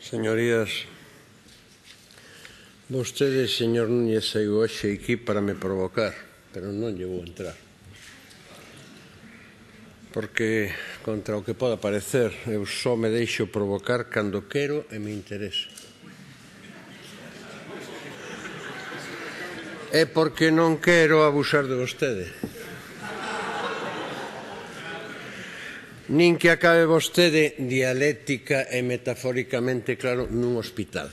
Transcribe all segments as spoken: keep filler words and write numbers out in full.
Señorías, vostede, señor Núñez, saiu hoxe aquí para me provocar, pero non lle vou entrar. Porque, contra o que poda parecer, eu só me deixo provocar cando quero e me interesa. É porque non quero abusar de vostede. Nin que acabe vostede dialéctica e metafóricamente claro nun hospital.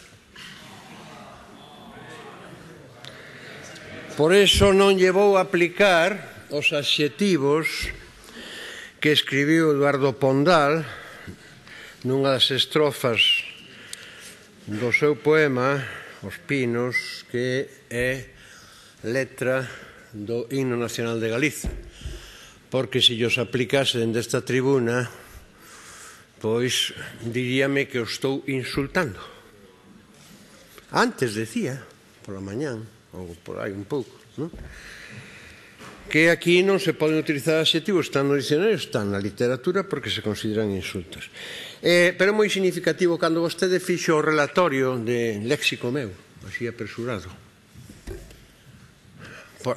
Por iso non lle vou aplicar os adxetivos que escribiu Eduardo Pondal nunha das estrofas do seu poema Os Pinos, que é letra do himno nacional de Galiza, porque se os aplicase dende esta tribuna, pois diríame que o estou insultando. Antes decía, pola mañán, ou por aí un pouco, non? Que aquí non se poden utilizar adxetivos, están no dicionario, están na literatura, porque se consideran insultos. Eh, pero é moi significativo cando vostede fixo o relatorio de léxico meu, así apresurado.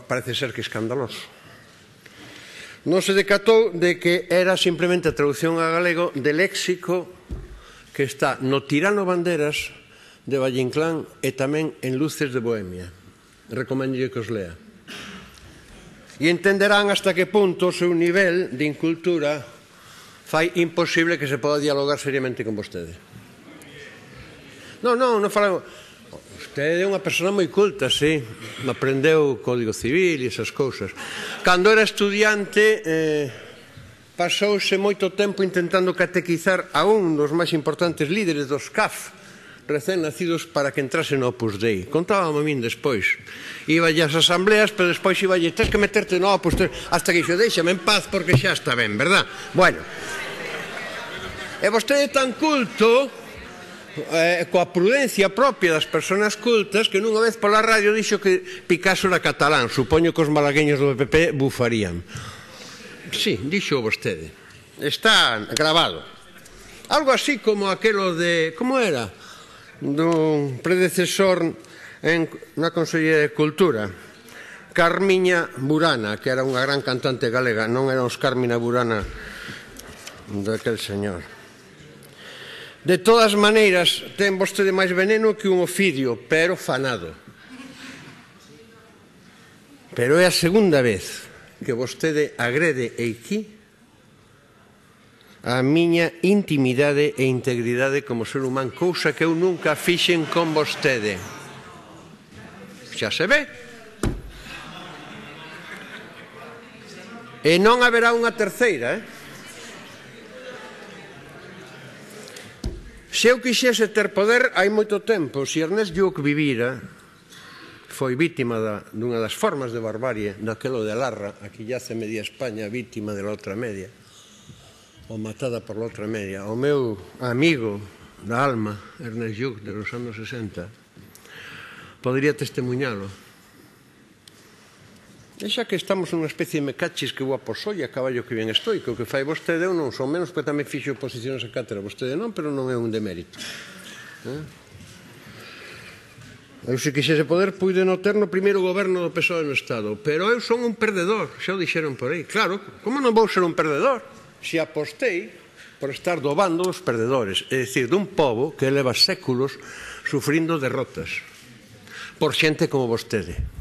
Parece ser que escandaloso. Non se decatou de que era simplemente a traducción a galego de léxico que está no Tirano Banderas de Valle Inclán e tamén en Luces de Bohemia. Recomendo que os lea. E entenderán hasta que punto o seu nivel de incultura fai imposible que se poda dialogar seriamente con vostede. Non, non, non falamos. Vostede é unha persona moi culta, sí. Aprendeu o Código Civil e esas cousas. Cando era estudiante, eh, pasouse moito tempo intentando catequizar a un dos máis importantes líderes dos C A F, recén nacidos, para que entrase no Opus Dei. Contábame a min despois. Iballe ás asambleas, pero despois iballe, tens que meterte no Opus Dei, hasta que dixo, déixame en paz porque xa está ben, verdad? Bueno, e vostede é tan culto, Eh, coa prudencia propia das persoas cultas, que nunha vez pola radio dixo que Picasso era catalán. Supoño que os malagueños do P P bufarían. Sí, dixo vostede. Está grabado. Algo así como aquelo de... Como era? Do predecesor en, na Consellería de Cultura, Carmiña Burana, que era unha gran cantante galega. Non era os Carmina Burana daquel señor. De todas maneiras, ten vostede máis veneno que un ofidio, pero fanado. Pero é a segunda vez que vostede agrede aquí a miña intimidade e integridade como ser humano, cousa que eu nunca fixen con vostede. Xa se ve. E non haberá unha terceira, eh? Se eu quixese ter poder hai moito tempo, se Ernest Lluch vivira, foi vítima da, dunha das formas de barbarie, daquelo de Larra, aquí yace media España vítima de la outra media, ou matada por la outra media. O meu amigo da alma, Ernest Lluch, de los anos sesenta, podría testemunhalo. E xa que estamos nunha especie de mecachis que guapo soy, a caballo que ben estoy, que o que fai vostede eu non son menos, porque tamén fixo oposicións a cátedra, vostede non, pero non é un demérito. Eu, se quixese poder, puide non ter no primeiro goberno do P S O E no Estado, pero eu son un perdedor, xa o dixeron por aí. Claro, como non vou ser un perdedor? Se apostei por estar do bando dos perdedores, é dicir, dun pobo que leva séculos sufrindo derrotas por xente como vostede,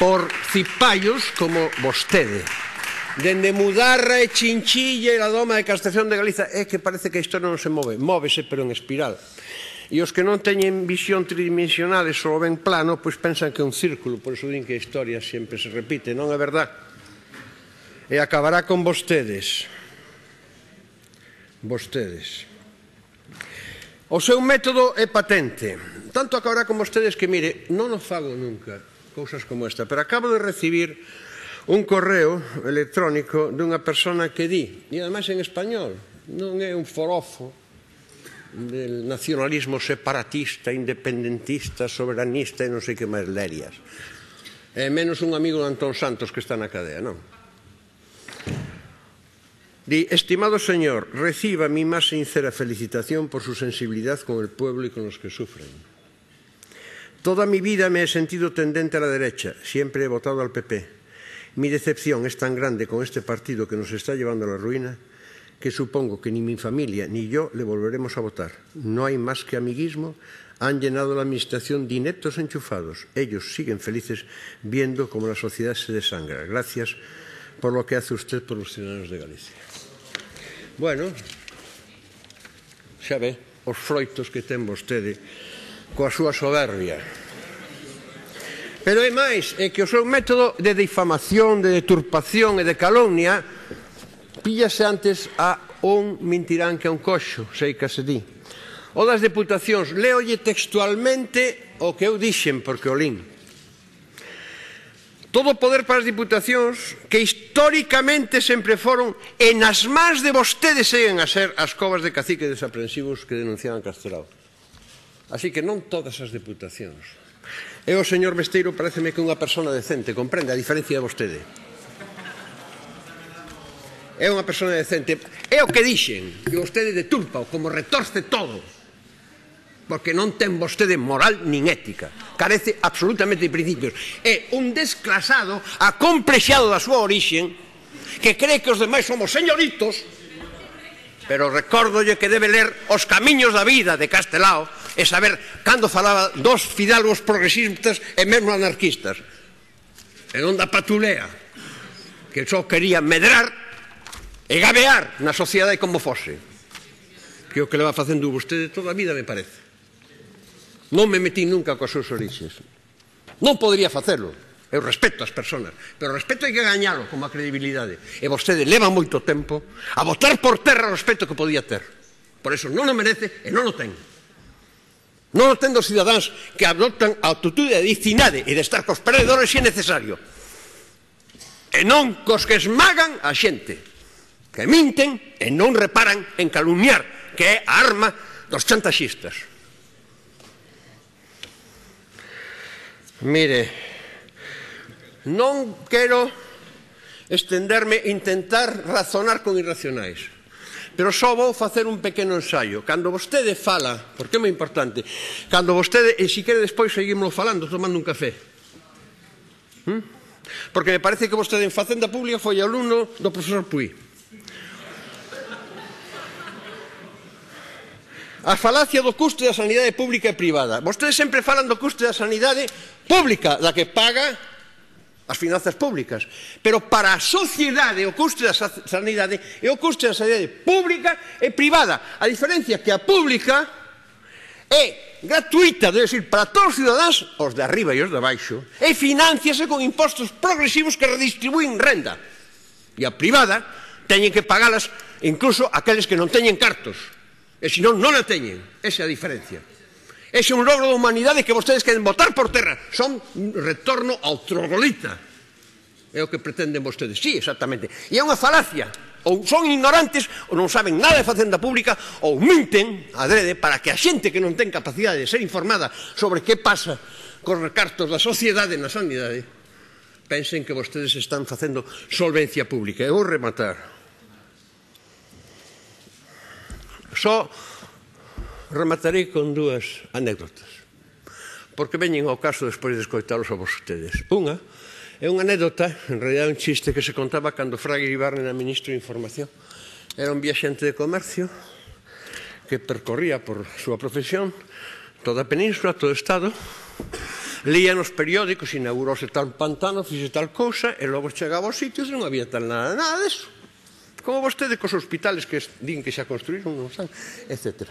por cipallos como vostede, dende Mudarra e Chinchilla e a Doma de Castración de Galiza. É que parece que a historia non se move, móvese pero en espiral. E os que non teñen visión tridimensional e só ven plano, pois pensan que é un círculo, por iso din que a historia sempre se repite. Non é verdad. E acabará con vostedes. Vostedes. O seu método é patente. Tanto acabará con vostedes que, mire, non o fago nunca cousas como esta, pero acabo de recibir un correo electrónico dunha persona que di, e ademais en español, non é un forofo del nacionalismo separatista, independentista, soberanista e non sei que máis lerias. É menos un amigo de Antón Santos que está na cadea, non? Di, estimado señor, reciba mi más sincera felicitación por su sensibilidad con el pueblo y con los que sufren. Toda mi vida me he sentido tendente a la derecha, siempre he votado al P P. Mi decepción es tan grande con este partido que nos está llevando a la ruina que supongo que ni mi familia ni yo le volveremos a votar. No hay más que amiguismo. Han llenado la administración de ineptos enchufados. Ellos siguen felices viendo cómo la sociedad se desangra. Gracias por lo que hace usted por los ciudadanos de Galicia. Bueno, xa ve os froitos que ten vostede coa súa soberbia. Pero é máis, é que o seu método de difamación, de deturpación e de calumnia píllase antes a un mintirán que a un coxo, sei que se di. O das deputacións, leolle textualmente o que eu dixen, porque o lín. Todo o poder para as diputacións que históricamente sempre foron e nas mans de vostedes seguen a ser as covas de caciques desaprensivos que denunciaban Castelao. Así que non todas as diputacións. E o señor Besteiro pareceme que é unha persona decente, comprende, a diferencia de vostede. É unha persona decente. É o que dixen, que vostede deturpa como retorce todo. Porque non ten vostede moral nin ética. Carece absolutamente de principios. É un desclasado, acomplexado da súa orixen, que cree que os demais somos señoritos, pero recórdolle que debe ler Os camiños da vida de Castelao e saber cando falaba dos fidalgos progresistas e mesmo anarquistas. E non da patulea, que só quería medrar e gabear na sociedade como fose. Que é o que le va facendo vostede toda a vida, me parece. Non me metí nunca coas súas orixes. Non podría facelo. Eu respeto as persoas, pero o respeto hai que gañalo como a credibilidade. E vostede leva moito tempo a botar por terra o respeto que podía ter. Por eso non o merece e non o ten. Non o ten dos cidadáns que adoptan a actitude de dicinade e de estar cos perdedores se é necesario. E non cos que esmagan a xente, que minten e non reparan en calumniar, que é a arma dos chantaxistas. Mire, non quero estenderme, intentar razonar con irracionais, pero só vou facer un pequeno ensaio. Cando vostede fala, porque é moi importante, cando vostede, e se quere despois seguimos falando, tomando un café, ¿Mm? Porque me parece que vostede en Facenda Pública foi alumno do profesor Puy. A falacia do custo da sanidade pública e privada. Vostedes sempre falan do custo da sanidade pública, da que paga as finanzas públicas. Pero para a sociedade o custo da sanidade é o custo da sanidade pública e privada. A diferencia que a pública é gratuita, debe ser para todos os cidadáns, os de arriba e os de abaixo, e financiase con impostos progresivos que redistribúen renda. E a privada teñen que pagalas incluso aqueles que non teñen cartos. E senón non a teñen. Esa é a diferencia. Ese é un logro da humanidade que vostedes queren botar por terra. Son un retorno ao troglodita. É o que pretenden vostedes. Sí, exactamente. E é unha falacia. Ou son ignorantes, ou non saben nada de Facenda Pública, ou minten adrede para que a xente que non ten capacidade de ser informada sobre que pasa cos recartos da sociedade na sanidade pensen que vostedes están facendo solvencia pública. E vou rematar. Só rematarei con dúas anécdotas, porque veñen ao caso despois de escoitalos a vostedes. Unha é unha anécdota, en realidad un chiste que se contaba cando Fraga Iribarne era ministro de Información. Era un viaxente de comercio que percorría por súa profesión toda a península, todo o Estado, lía nos periódicos, inaugurouse tal pantano, fixe tal cousa, e logo chegaba aos sitios e non había tal nada, nada deso. Como vostede cos hospitales que din que xa construíron, non saben, etcétera.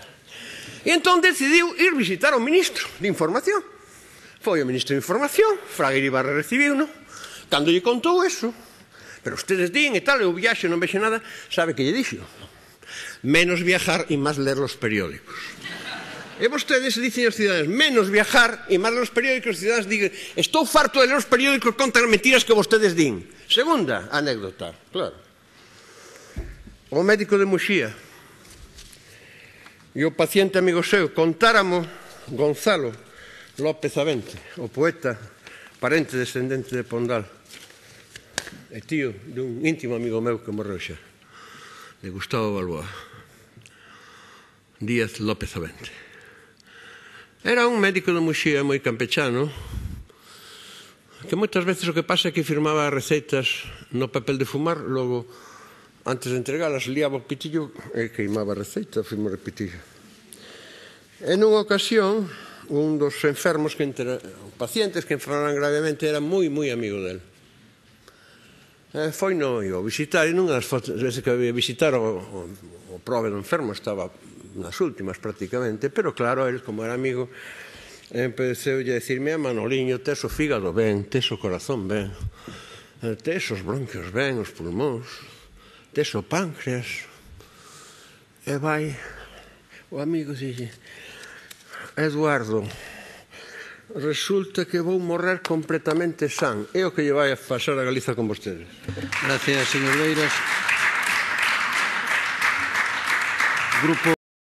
E entón decidiu ir visitar ao ministro de Información. Foi o ministro de Información, Fraga Iribarne recibiu-no, cando lle contou eso, pero ustedes din e tal, eu viaxo, non vexe nada, sabe que lle dixo? Menos viajar e máis ler los periódicos. E vostedes dicen aos cidadáns, menos viajar e máis ler os periódicos, os cidadáns digan, estou farto de ler os periódicos contra as mentiras que vostedes din. Segunda anécdota, claro. O médico de Muxía e o paciente amigo seu contáramo Gonzalo López Avente, o poeta parente descendente de Pondal e tío dun íntimo amigo meu que morreu xa. de Gustavo Balboa, Díaz López Avente. Era un médico de Muxía moi campechano, que moitas veces o que pasa é que firmaba receitas no papel de fumar, logo, antes de entregalas, liaba o pitillo e queimaba a receita, firmaba o pitillo. E nunha ocasión, un dos enfermos, que entre, pacientes que enfermaran gravemente, era moi, moi amigo del. E foi no iba a visitar, e nunha das veces que había visitar o, o, o prove do enfermo estaba nas últimas prácticamente, pero claro, el como era amigo, empeceu a decirme: Manoliño, tes o fígado ben, tes o corazón ben, tes os bronquios ben, os pulmóns, tes o páncreas. E vai o amigo dille: Eduardo, resulta que vou morrer completamente san. É o que lle vai a pasar a Galiza con vostedes. Gracias, señor Beiras. Grupo